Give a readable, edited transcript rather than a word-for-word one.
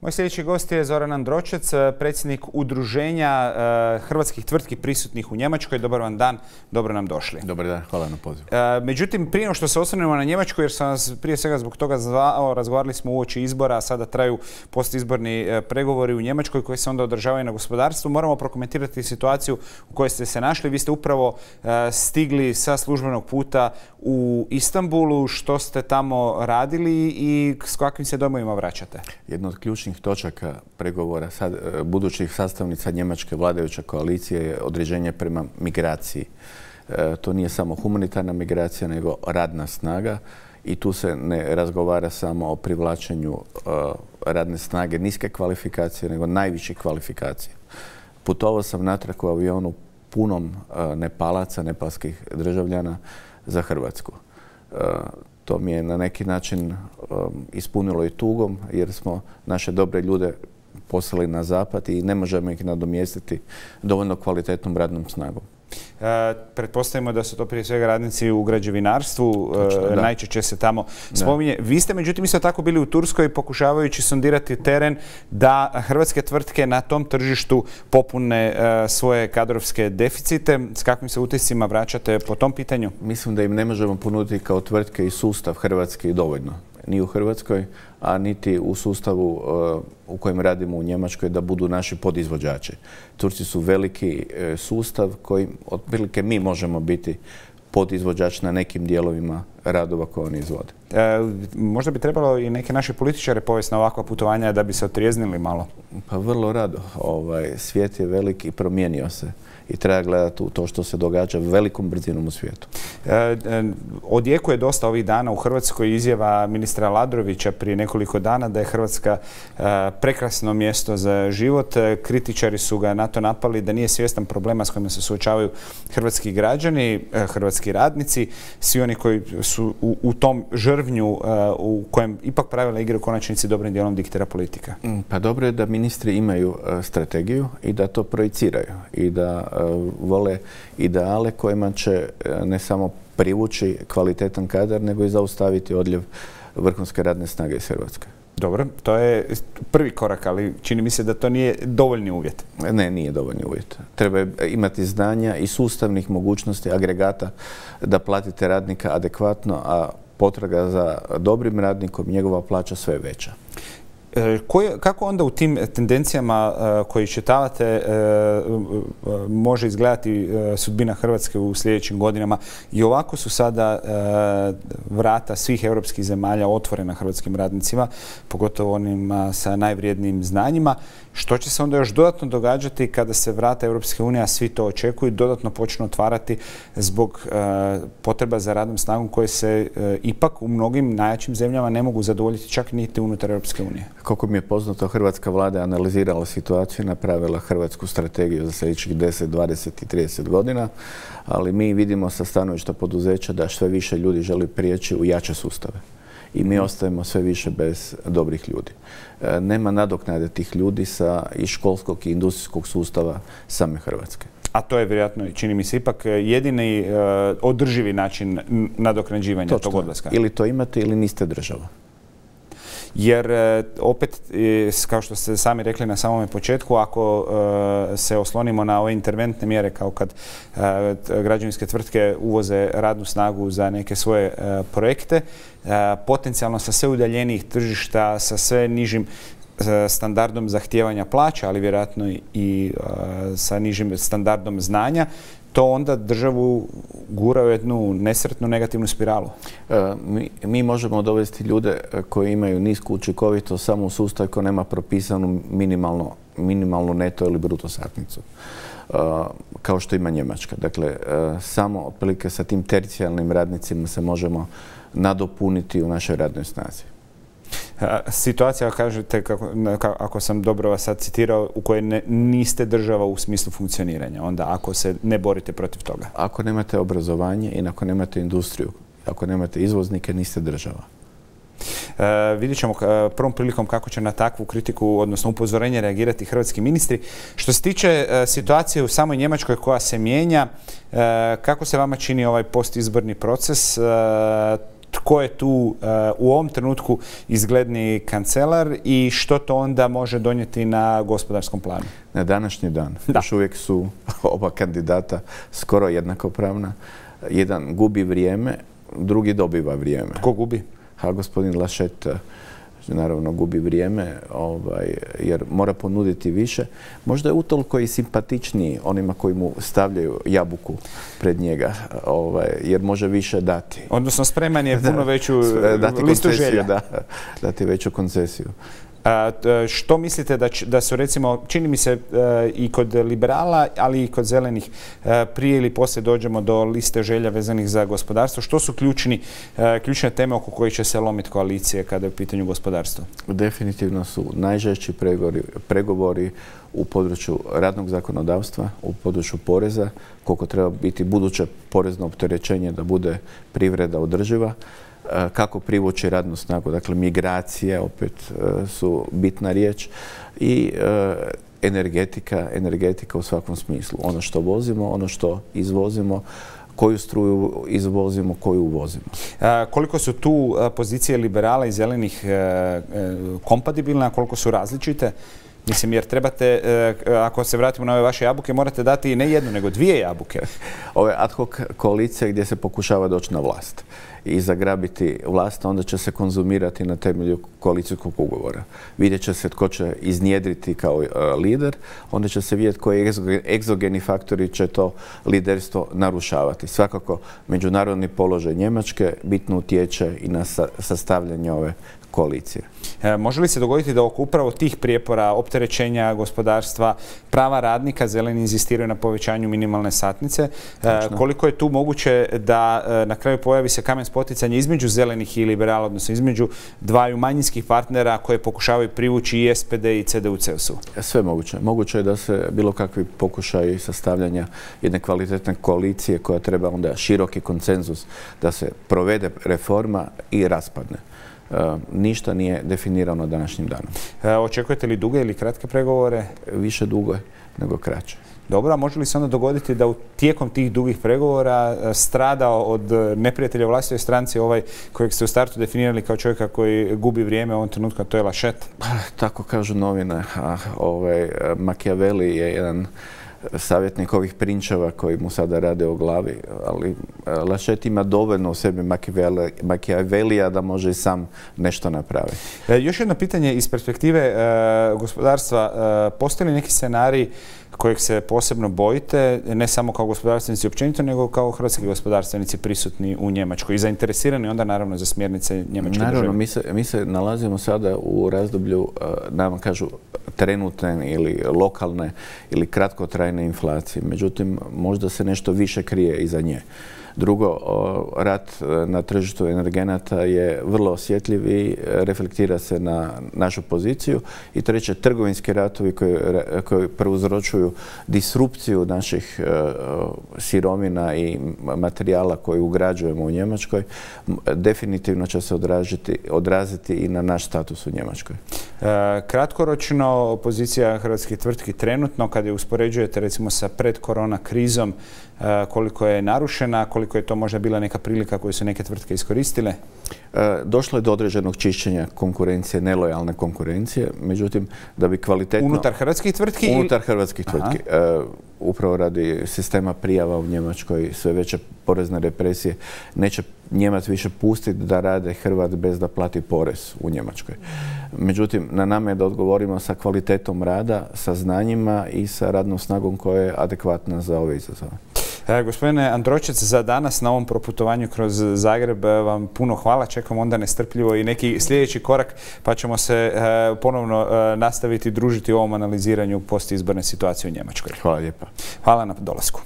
Moj sljedeći gost je Zoran Andročec, predsjednik Udruženja hrvatskih tvrtki prisutnih u Njemačkoj. Dobar vam dan, dobro nam došli. Dobar dan, hvala na pozivu. Međutim, prije što se osvrnemo na Njemačku, jer sam vas prije svega zbog toga zvao, razgovarali smo uoči izbora, a sada traju postizborni pregovori u Njemačkoj koji se onda održavaju na gospodarstvu. Moramo prokomentirati situaciju u kojoj ste se našli. Vi ste upravo stigli sa službenog puta u Istanbulu. Što ste tamo radili i s kakvim se domovima vraćate? Jedna od ključnih točaka pregovora budućih sastavnica njemačke vladajuće koalicije je određenje prema migraciji. To nije samo humanitarna migracija, nego radna snaga i tu se ne razgovara samo o privlačenju radne snage niske kvalifikacije, nego najviših kvalifikacija. Putovao sam natrag u avionu punom Nepalaca, nepalskih državljana za Hrvatsku. To mi je na neki način ispunilo i tugom jer smo naše dobre ljude poslali na zapad i ne možemo ih nadomjestiti dovoljno kvalitetnom radnom snagom. Pretpostavimo da su to prije svega radnici u građevinarstvu, najčešće se tamo spominje. Vi ste međutim isto tako bili u Turskoj pokušavajući sondirati teren da hrvatske tvrtke na tom tržištu popune svoje kadrovske deficite. S kakvim se utiscima vraćate po tom pitanju? Mislim da im ne možemo ponuditi kao tvrtke i sustav hrvatski dovoljno. Ni u Hrvatskoj, a niti u sustavu u kojem radimo u Njemačkoj da budu naši podizvođači. Turci su veliki sustav koji otprilike mi možemo biti podizvođač na nekim dijelovima radova koje oni izvode. Možda bi trebalo i neke naše političare povesti na ovakva putovanja da bi se otrijeznili malo. Pa vrlo rado. Svijet je velik i promijenio se. I treba gledati to što se događa velikom brzinom u svijetu. Odjekuje dosta ovih dana u Hrvatskoj izjava ministra Aladrovića prije nekoliko dana da je Hrvatska prekrasno mjesto za život. Kritičari su ga na to napali da nije svjestan problema s kojima se suočavaju hrvatski građani, hrvatski radnici, svi oni koji su u tom žrvnju u kojem ipak pravila igre u konačnici dobrim dijelom diktira politika. Pa dobro je da ministri imaju strategiju i da to projiciraju i da vole ideale kojima će ne samo privući kvalitetan kadar, nego i zaustaviti odljev vrhunske radne snage iz Hrvatske. Dobro, to je prvi korak, ali čini mi se da to nije dovoljni uvjet. Ne, nije dovoljni uvjet. Treba imati znanja i sustavnih mogućnosti agregata da platite radnika adekvatno, a potraga za dobrim radnikom, njegova plaća sve je veća. Kako onda u tim tendencijama koje iščitavate može izgledati sudbina Hrvatske u sljedećim godinama? I ovako su sada vrata svih europskih zemalja otvorena hrvatskim radnicima, pogotovo onima sa najvrijednijim znanjima. Što će se onda još dodatno događati kada se vrata Europske unije, a svi to očekuju, dodatno počnu otvarati zbog potreba za radnom snagom koje se ipak u mnogim najjačim zemljama ne mogu zadovoljiti čak niti unutar Europske unije? Koliko mi je poznato, hrvatska vlada je analizirala situaciju i napravila hrvatsku strategiju za sljedećih 10, 20 i 30 godina, ali mi vidimo sa stanovišta poduzeća da sve više ljudi želi prijeći u jače sustave. I mi ostajemo sve više bez dobrih ljudi. Nema nadoknade tih ljudi iz školskog i industrijskog sustava same Hrvatske. A to je vjerojatno, čini mi se, ipak jedini održivi način nadoknađivanja tog odlaska. Ili to imate ili niste država. Jer opet, kao što ste sami rekli na samome početku, ako se oslonimo na ove interventne mjere kao kad građevinske tvrtke uvoze radnu snagu za neke svoje projekte, potencijalno sa sve udaljenijih tržišta, sa sve nižim standardom zahtijevanja plaća, ali vjerojatno i sa nižim standardom znanja, to onda državu gura u jednu nesretnu negativnu spiralu. Mi možemo dovesti ljude koji imaju nisku učinkovitost samo u sustav koji nema propisanu minimalnu neto ili bruto satnicu, kao što ima Njemačka. Dakle, samo otprilike sa tim tercijalnim radnicima se možemo nadopuniti u našoj radnoj snazi. Situacija, kažete, ako sam dobro vas sad citirao, u kojoj niste država u smislu funkcioniranja, onda ako se ne borite protiv toga? Ako nemate obrazovanje i ako nemate industriju, ako nemate izvoznike, niste država. Vidjet ćemo prvom prilikom kako će na takvu kritiku, odnosno upozorenje, reagirati hrvatski ministri. Što se tiče situacije u samoj Njemačkoj koja se mijenja, kako se vama čini ovaj postizborni proces? tko je tu u ovom trenutku izgledniji kancelar i što to onda može donijeti na gospodarskom planu? Na današnji dan još uvijek su oba kandidata skoro jednakopravna. Jedan gubi vrijeme, drugi dobiva vrijeme. Tko gubi? Gospodin Laschet naravno gubi vrijeme jer mora ponuditi više. Možda je utoliko i simpatičniji onima koji mu stavljaju jabuku pred njega, jer može više dati. Odnosno spreman je puno veću listu želja. Dati veću koncesiju. Što mislite da su, recimo, čini mi se i kod liberala, ali i kod zelenih, prije ili poslije dođemo do liste želja vezanih za gospodarstvo? Što su ključne teme oko kojih će se lomiti koalicije kada je u pitanju gospodarstva? Definitivno su najžešći pregovori u području radnog zakonodavstva, u području poreza, koliko treba biti buduće porezno opterećenje da bude privreda održiva, kako privući radnu snagu, dakle migracije opet su bitna riječ i energetika u svakom smislu. Ono što vozimo, ono što izvozimo, koju struju izvozimo, koju uvozimo. Koliko su tu pozicije liberala i zelenih kompatibilne, a koliko su različite? Mislim, jer trebate, ako se vratimo na ove vaše jabuke, morate dati ne jednu, nego dvije jabuke. Ove ad hoc koalicije gdje se pokušava doći na vlast i zagrabiti vlast, onda će se konzumirati na temelju koalicijskog ugovora. Vidjet će se tko će iznjedriti kao lider, onda će se vidjeti koji egzogeni faktori će to liderstvo narušavati. Svakako, međunarodni položaj Njemačke bitno utječe i na sastavljanje ove koalicije. Može li se dogoditi da oko upravo tih prijepora, opterećenja gospodarstva, prava radnika, zeleni inzistiraju na povećanju minimalne satnice? Koliko je tu moguće da na kraju pojavi se kamen spoticanja između zelenih i liberala, odnosno između dvaju manjinskih partnera koje pokušavaju privući i SPD i CDU-CSU? Sve moguće. Moguće je da se bilo kakvi pokušaji sastavljanja jedne kvalitetne koalicije koja treba onda široki konsenzus da se provede reforma i raspadne. Ništa nije definirano današnjim danom. Očekujete li duge ili kratke pregovore? Više dugo nego kraće. Dobro, a može li se onda dogoditi da tijekom tih dugih pregovora strada od neprijatelja u vlastitoj stranci ovaj kojeg ste u startu definirali kao čovjeka koji gubi vrijeme u ovom trenutku, a to je Laschet? Tako kažu novine. Machiavelli je jedan savjetnik ovih prinčeva koji mu sada rade o glavi, ali Laschet ima dovoljno u sebi Machiavellija da može i sam nešto napraviti. Još jedno pitanje iz perspektive gospodarstva. Postoji li neki scenarij kojeg se posebno bojite, ne samo kao gospodarstvenici općenito, nego kao hrvatski gospodarstvenici prisutni u Njemačkoj i zainteresirani onda naravno za smjernice njemačke države? Naravno, mi se nalazimo sada u razdoblju, nam kažu, trenutne ili lokalne ili kratkotrajne inflacije. Međutim, možda se nešto više krije iza nje. Drugo, rat na tržištu energenata je vrlo osjetljiv i reflektira se na našu poziciju. I treće, trgovinski ratovi koji prouzročuju disrupciju naših sirovina i materijala koji ugrađujemo u Njemačkoj, definitivno će se odraziti i na naš status u Njemačkoj. Kratkoročno, pozicija hrvatskih tvrtki trenutno, kada je uspoređujete recimo sa predkorona krizom, koliko je narušena, koliko je to možda bila neka prilika koju su neke tvrtke iskoristile? Došlo je do određenog čišćenja konkurencije, nelojalne konkurencije, međutim, da bi kvalitetno... Unutar hrvatskih tvrtki? Unutar hrvatskih tvrtki. Upravo radi sistema prijava u Njemačkoj, sve veće porezne represije, neće Njemac više pustiti da rade Hrvat bez da plati porez u Njemačkoj. Međutim, na nama je da odgovorimo sa kvalitetom rada, sa znanjima i sa radnom snagom koja je adekvatna za ove izazove. Gospodine Andročec, za danas na ovom proputovanju kroz Zagreb vam puno hvala. Čekam onda nestrpljivo i neki sljedeći korak, pa ćemo se ponovno nastaviti družiti u ovom analiziranju postizborne situacije u Njemačkoj. Hvala lijepa. Hvala na dolasku.